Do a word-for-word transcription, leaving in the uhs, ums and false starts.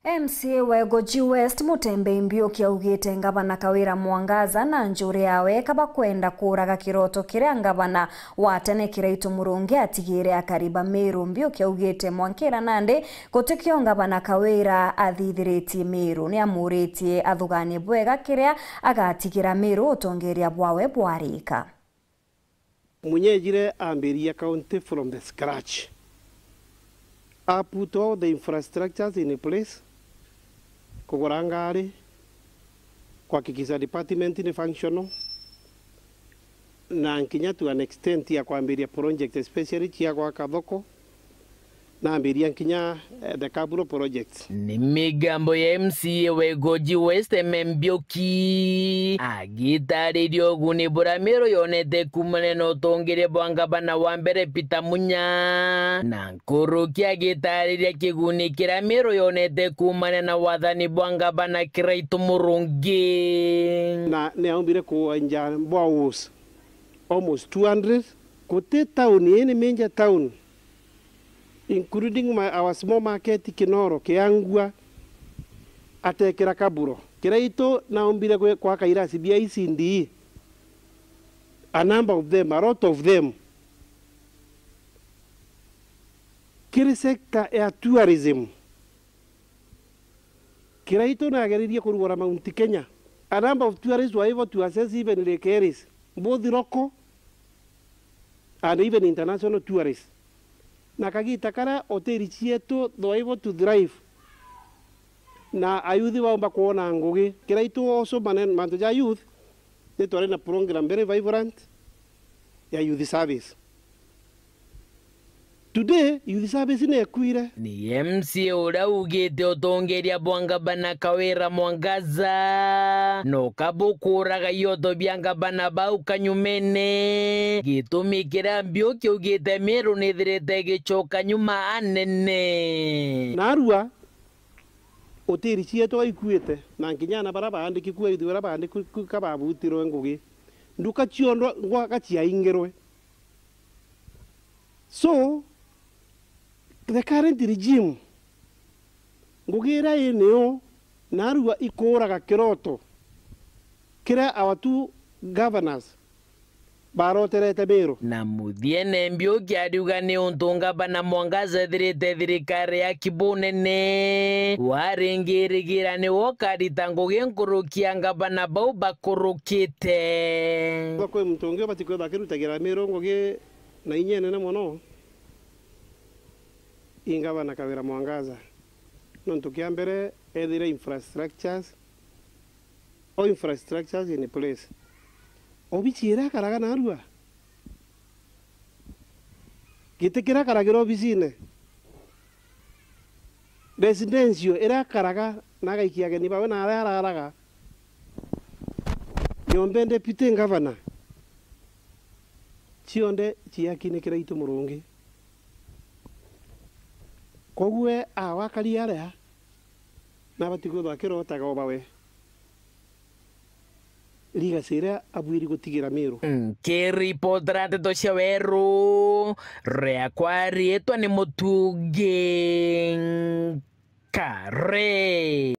M C A wa Igoji West, Mutembei Mbiuki, augite ngavana Kawira Mwangaza na njuri yawe kabakwenda kuuraga kiroto kiria ngavana wa tene Kiraitu Murungi atigire akari ba Meru. Mbiuki augite mwankira nandi gutikio ngavana Kawira athithiritie Meru, ni amuritie athuganie bwega kiria agatigira Meru utongeria bwawe bwarika. Munya ejire ambiriria county from the scratch. A put all the infrastructures in place, kugura ngari, kuhakikisha department ni functional, na nkinya to an extent ya kwambiria project especially cia gwaka thoko, nambiria nkinya, eh, the capital projects. Ni migambo ya M C A wa Igoji West, M M Mbiuki, agitariria uguni buria Meru yonete kuumania na utongeria bwa ngavana wa mbere Peter Munya, na nkuruki agitariria kiguni kiria Meru yonete kuumania na wathani bwa ngavana Kiraitu Murungi. Na ni aumbire kuenja boreholes almost two hundred. Guti town, any major town, including my, our small market Kinoro, Kiangua, atekira kaburo. Kiraitu naumbire gwe-, gwaka irasi bia E C D E, a number of them, a lot of them. Kiri sector ya tourism, Kiraitu nageririe kurugura Mount Kenya. A number of tourists were able to access even Lake Heris, both local and even international tourists. Na kagita karia hoteli cietu they were able to thrive, na ayuthi baumba kwona ngugi. Kiraitu also manen-, mantu ja youth, ni twari na program very vibrant ya youth service. Today, youth service ni ekuire. Ni M C A uria ugite utongeria bwa ngavana Kawira Mwangaza no kabukuraga ioto bia ngavana bau kanyumene. Gitumi kiria Mbiuki augite Meru nithirite igicoka nyuma anene. Narua, hoteli cietu ikuite, na nkinya ana baria baandiki ku, ayuthi baria baandiki ku, kababutirwe ngugi. Nduka cionthe ngwaka ciaingirwe. So, the current regime, ngugi iria i nio, narua ikuuraga kiroto kiria our two governors baroterete Meru. Na muthiene Mbiuki ariuga ni untu ngavana Mwangaza ethirite thirikari ya kibunene, waringirigira niwe ukarita ngugi nkuruki ya ngavana bau bakurukite. Kwi muntu ungi ubati kwithwa akirutagira Meru ngugi na inya inene mono, i ngavana Kawira Mwangaza. Nontu kia mbere, ethire infrastructures, all infrastructures in place. Obici iria akaraga narua, giti kiria akaragira obicine, residential iria akaraga na agaikia ageni bawe na aria araraga, nyomba ende deputy governor, cionthe ciaki ni Kiraitu Murungi. Koguo we awa akari aria, nabati kwithwa akirotaga oba we legacy iria abwiri gutigira Meru. Nkiripotera ndeto cia Weru, riakwa riitwa ni Mutungi Nkare.